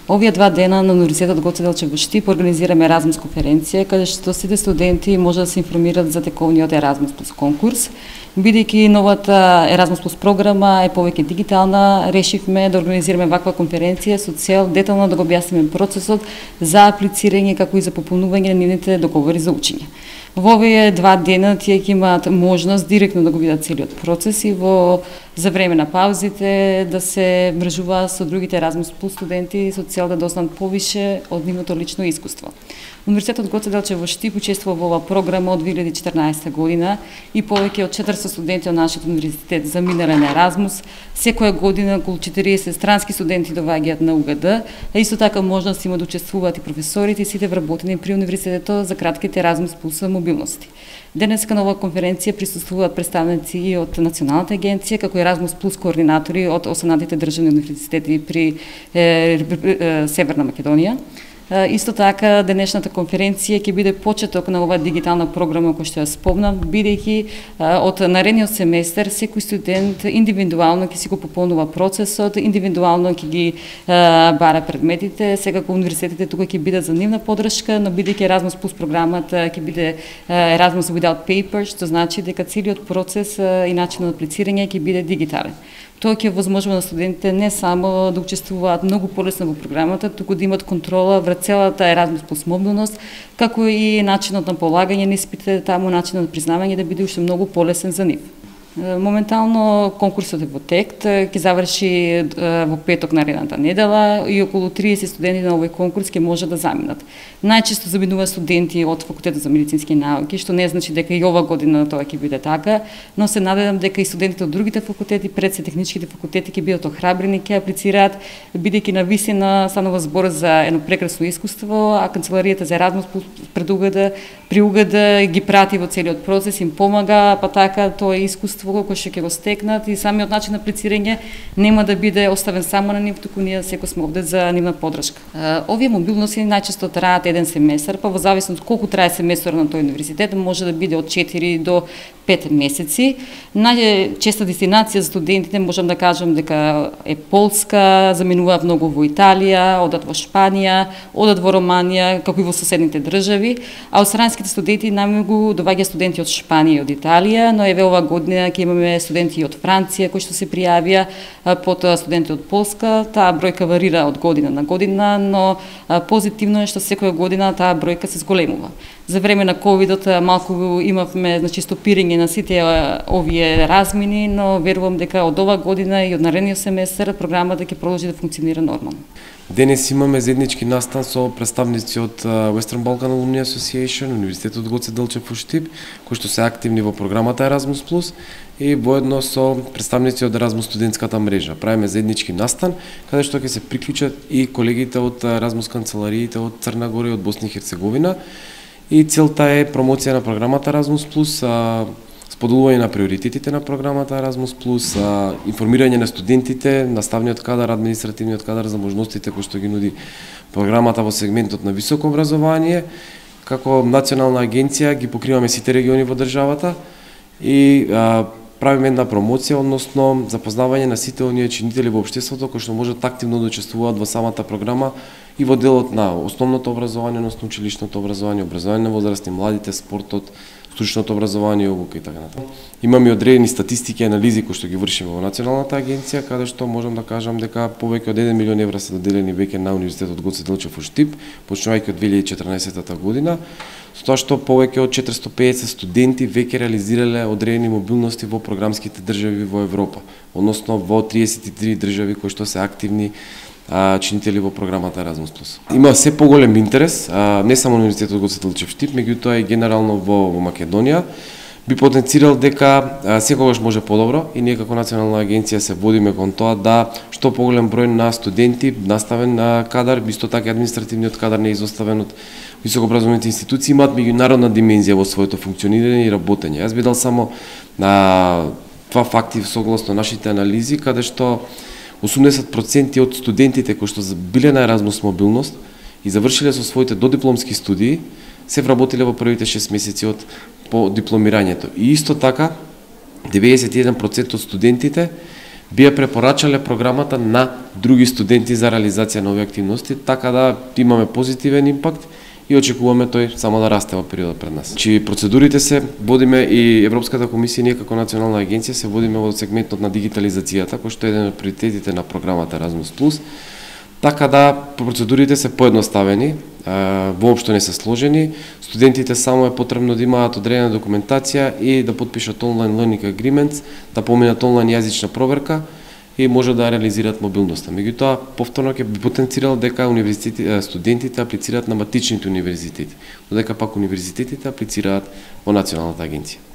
Овие 2 дена на Универзитетот Гоце Делчев во Штип организираме Еразмус конференција, каде што сите студенти може да се информираат за тековниот Еразмус плюс конкурс. Бидејќи новата Еразмус плюс програма е повеќе дигитална, решивме да организираме ваква конференција со цел детално да го објасниме процесот за аплицирање како и за пополнување на нивните договори за учење. Во овие 2 дена тие ќе имаат можност директно да го видат целиот процес и за време на паузите да се мрежуваат со другите Еразмус плюс студенти со цел да дознаат повише од нивното лично искуство. Универзитетот Гоце Делчев во Штип учествува во оваа програма од 2014 година и повеќе од 400 студенти од нашиот универзитет заминале на Еразмус. Секоја година околу 40 странски студенти доаѓаат на УГД, а исто така можност има да учествуваат и професорите и сите вработени при универзитетот за кратките Еразмус плюс мобилности. Денеска на оваа конференција присуствуваат представници и од Националната агенција, како и Еразмус плюс координатори од останатите државни универзитети при Северна Македонија. Исто така, денешната конференција ќе биде почеток на оваа дигитална програма која што ја спомнав, бидејќи од наредниот семестер секој студент индивидуално ќе си го пополнува процесот, индивидуално ќе ги бара предметите. Секако универзитетите тука ќе бидат за нивна поддршка, но бидејќи Еразмус плюс програмата ќе биде Еразмус without paper, што значи дека целиот процес и начинот на аплицирање ќе биде дигитален. Тоа ќе возможува на студентите не само да учествуваат многу полесно во програмата, туку да имат контрола врз целата Еразмус плюс мобилност, како и начинот на полагање на испитите таму, начинот на признавање да биде уште многу полесен за нив. Моментално конкурсот е во тек, ќе заврши во петок наредната недела и околу 30 студенти на овој конкурс ќе може да заминат. Најчесто заминуваат студенти од факултетот за медицински науки, што не значи дека и ова година тоа ќе биде така, но се надевам дека и студентите од другите факултети, пред се техничките факултети ќе бидат охрабрени, ќе аплицираат, бидејќи навистина станува збор за едно прекрасно искуство, а канцеларијата за Еразмус при УГД ги прати во целиот процес, им помага, па така тоа е искуство кој што ќе го стекнат и самиот начин на аплицирање нема да биде оставен само на нив, туку ние секој сме овде за нивна поддршка. Овие мобилности најчесто траат еден семестар, па во зависност колку трае семестарот на тој универзитет, може да биде од 4 до 5 месеци. Најчеста дестинација за студентите можам да кажам дека е Полска, заминуваат многу во Италија, одат во Шпанија, одат во Романија, како и во соседните држави, а од странските студенти најмногу доаѓа студенти од Шпанија и од Италија, но еве ова година ќе имаме студенти од Франција кои што се пријавија, потоа студенти од Полска. Таа бројка варира од година на година, но позитивно е што секоја година таа бројка се зголемува. За време на ковидот малку имавме стопирање на сите овие размини, но верувам дека од ова година и од наредниот семестер програмата ќе продолжи да функционира нормално. Денес имаме заеднички настан со представници од Western Balkan Alumni Association, Универзитетот Гоце Делчев во Штип, кои што се активни во програмата Еразмус плюс и воедно со представници од Еразмус студентската мрежа. Правиме заеднички настан каде што ќе се приклучат и колегите од Еразмус канцелариите од Црна Гора и од Босна и Херцеговина. И целта е промоција на програмата Еразмус плюс, споделување на приоритетите на програмата Еразмус плюс, информирање на студентите, наставниот кадар, административниот кадар за можностите кои што ги нуди програмата во сегментот на високо образование. Како национална агенција ги покриваме сите региони во државата и правиме една промоција, односно запознавање на сите оние чинители во општеството кои што можат активно да учествуваат во самата програма и во делот на основното образование, односно училишното образование, образование на возрастни, младите, спортот, стручното образование, обука и така натаму. Имаме одредени статистики и анализи кои што ги вршиме во Националната агенција, каде што можам да кажам дека повеќе од 1 милион евра се доделени веќе на Универзитетот Гоце Делчев во Штип, почнувајќи од 2014 година, со тоа што повеќе од 450 студенти веќе реализирале одредени мобилности во програмските држави во Европа, односно во 33 држави кои што се активни чинители во програмата Еразмус плюс. Има се поголем интерес, не само на Универзитетот Гоце Делчев Штип, меѓутоа и генерално во Македонија. Би потенцирал дека секогаш може подобро и ние како национална агенција се водиме кон тоа да што поголем број на студенти, наставен кадар, исто така административниот кадар не е изоставен од високообразовните институции, имаат меѓународна димензија во своето функционирање и работење. Јас би дал само на два факти согласно нашите анализи, каде што 80% од студентите кои што биле на Еразмус мобилност и завршиле со своите додипломски студии, се вработиле во првите 6 месеци од по дипломирањето. И исто така, 91% од студентите би ја препорачале програмата на други студенти за реализација на овие активности, така да имаме позитивен импакт и очекуваме тој само да расте во периодот пред нас. Процедурите се водиме и Европската комисија, ние како национална агенција се водиме во сегментот на дигитализацијата, кој што е еден од приоритетите на програмата Erasmus+. Така да процедурите се поедноставени, воопшто не се сложени, студентите само е потребно да имаат одредена документација и да потпишат онлайн learning agreements, да поминат онлайн јазична проверка и може да реализираат мобилноста. Меѓутоа, повторно ќе би потенцирал дека студентите аплицираат на матичните универзитети, додека пак универзитетите аплицираат во Националната агенција.